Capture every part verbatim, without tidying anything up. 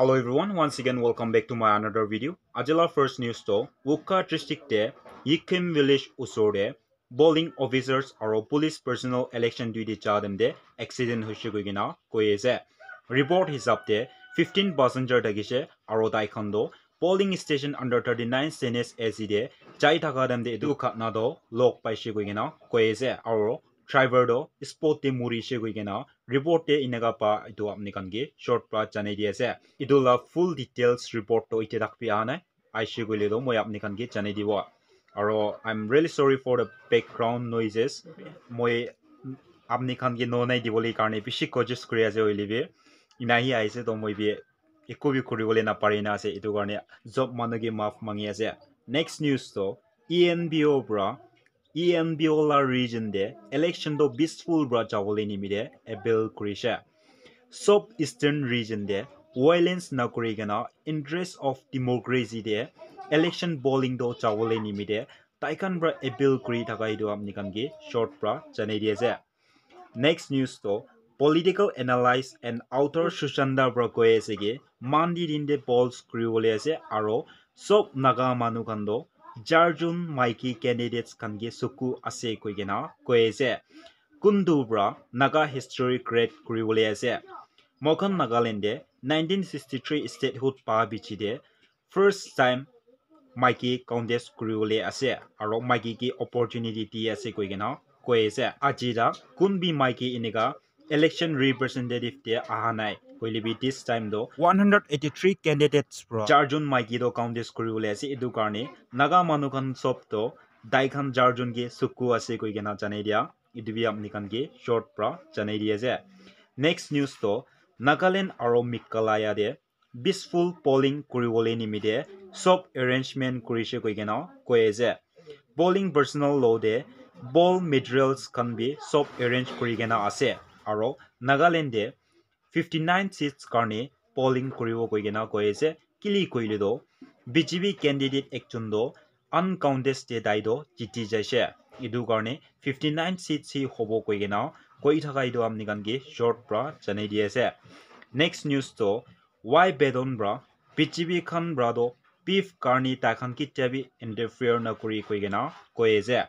Hello everyone, once again welcome back to my another video. Ajila first news to Wokha district te Yikim village usor te polling officers aro police personnel election duty ja dem te accident hoise koi kena koi ase. Report hisab te fifteen passenger thakise aro tai khan to polling station under thirty-nine C N S A C te jai thaka dem te etu ghatna to log paise koi kena koi ase aro driver to spot te murise koi kena report te eneka pa etu apni khan ke short pra janai di ase. Etu la full details report to ite tak bi aha nai. Aise koile to moi apni khan ke janai dibo. Aro I'm really sorry for the background noises. Moi apni khan ke no nai dibole karne bishi kojis kuri ase hoile bi. Ina hi aise to moi bi ekko bi kuribole napari na ase. Etu karne job manu ke maaf mangi ase. Next news to E N P O pra E N P O la region te election to peaceful pra jabole nimite appeal kurise. Sob Eastern region te violence na kuri kena interest of democracy te election polling to jabole nimite tai khan pra appeal kuri thaka etu apni khan ke short pra janai di ase. Next news to political analyst and author Sushanta pra koi ase ki Monday din te polls kuri bole ase aro sob Naga manu khan to charjon maiki candidates khan ke suku ase koi kena koi ase. Kuntu pra Naga history create kuri bole ase. Moikhan Nagaland te nineteen sixty-three statehood pa bichi te first time maiki contest kuri bole ase aro maiki ke opportunity di ase koi kena koi ase. Aji ta kun bi maiki eneka election representative te aha nai. Hoile bi this time to one hundred eighty-three candidates pra charjon maiki to contest kuri bole ase. Etu karne Naga manu khan sob to tai khan charjon ke suku ase koi kena janai dia. Etu bi apni khan ke short pra janai di ase. Next news to Nagaland aro Meghalaya te peaceful polling kuri bole nimite sob arrangement kurise koi kena koi ase. Polling personnel lo te poll materials khan bi sob arrange kuri kena ase. Aro Nagaland te fifty-nine seats karne polling kuribo koi kena koi ase. Kili koile to B J P candidate ekjon to uncontested tai to jiti jaise. Etu karne fifty-nine seats hi hobo koi kena koi thaka etu apni khan ke short pra janai di ase. Next news to Y Bedon pra B J P khan pra to beef karne tai khan kitia bi interfere na kuri koi kena koi ase.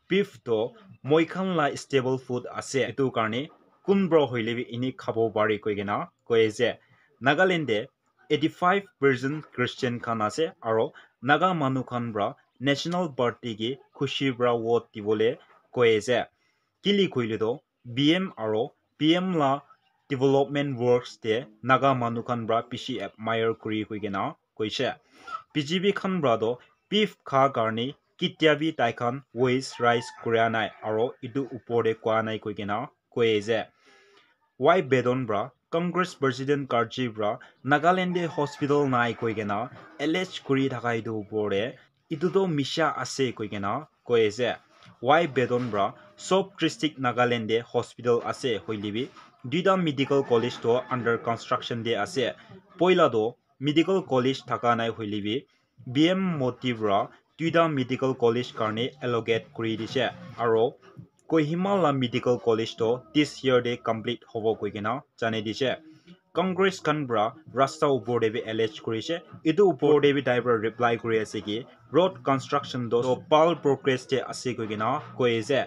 Beef to moi khan la staple food ase. Etu karne kun pra hoile bi ini khabo pare koi kena koi ase. Nagaland te eighty-five percent Christian khan ase aro Naga manu khan pra National Party ke khushi pra vote dibole koi ase. Kili koile to B M aro P M la development works te Naga manu khan pra bishi admire kuri koi kena koise. B J P khan pra to beef kha karne kitia bi tai khan voice raise kura nai aro etu upor te koa nai koi kena koi ase. Y Bedon pra Congress President Karchi pra Nagaland te hospital nai koi kena allege kuri thaka etu upor te etu to misha ase koi kena koi ase. Y Bedon pra sob district Nagaland te hospital ase hoile bi duita medical college to under construction te ase. Poila to medical college thaka nai hoile bi B M Modi pra duita medical college karne allocate kuri dise aro Kohima la medical college to this year te complete hobo koi kena janai dise. Congress khan pra rasta upor te bi allege kurise. Etu upor te bi tai pra reply kuri ase ki road construction to bhal progress te ase koi kena koi ase.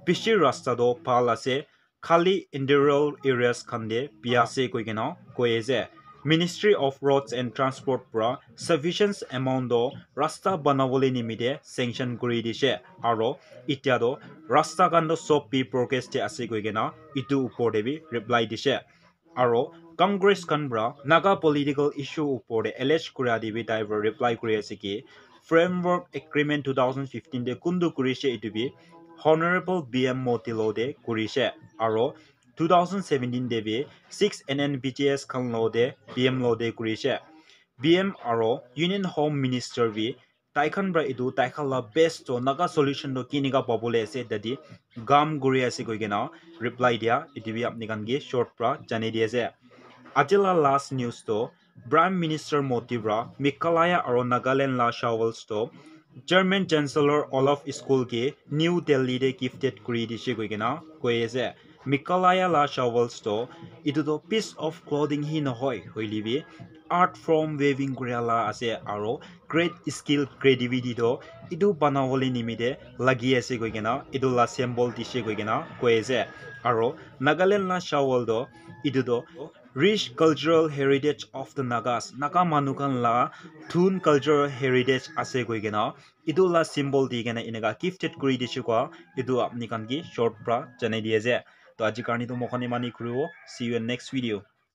Bishi rasta to bhal ase. Khali interior areas khan te bia ase koi kena koi ase. Ministry of Roads and Transport pra sufficient amount to rasta banabole nimite sanction kuri dise. Aro itia to rasta khan to sob bi progress te ase koi kena etu upor te bi reply dise. Aro Congress khan pra Naga political issue upor te allege kura te bi tai pra reply kuri ase ki framework agreement two thousand fifteen te kuntu kurise etu bi Honorable B M Modi lo te kurise. Aro two thousand seventeen te bi six N N B G S khan lo te B M lo te kurise. B M aro Union Home Minister bi tai khan pra etu tai khan la best to Naga solution to kinika pabole ase tadi kam kuri ase koi kena reply dia etu bi apni khan ke short pra janai di ase. Aji la last news to Prime Minister Modi pra Meghalaya aro Nagaland la shovels to German Chancellor Olaf Scholz ke New Delhi te gifted kuri dise koi kena koi ase. Meghalaya la shawls toh etu toh piece of clothing hi nohoi, hoile bi art form weaving kuria la ase, aro great skill, creativity toh etu banawole nimite lagi ase koi kena etu la symbol dise koi kena koi ase. Aro Nagaland la shawl toh etu toh rich cultural heritage of the Nagas, Naga manu khan la thun cultural heritage ase koi kena etu la symbol di kena eneka gifted kuri dise koa etu apni khan ke short pra janai di ase. To aji karne toh moi khan imane kuribo. See you in next video.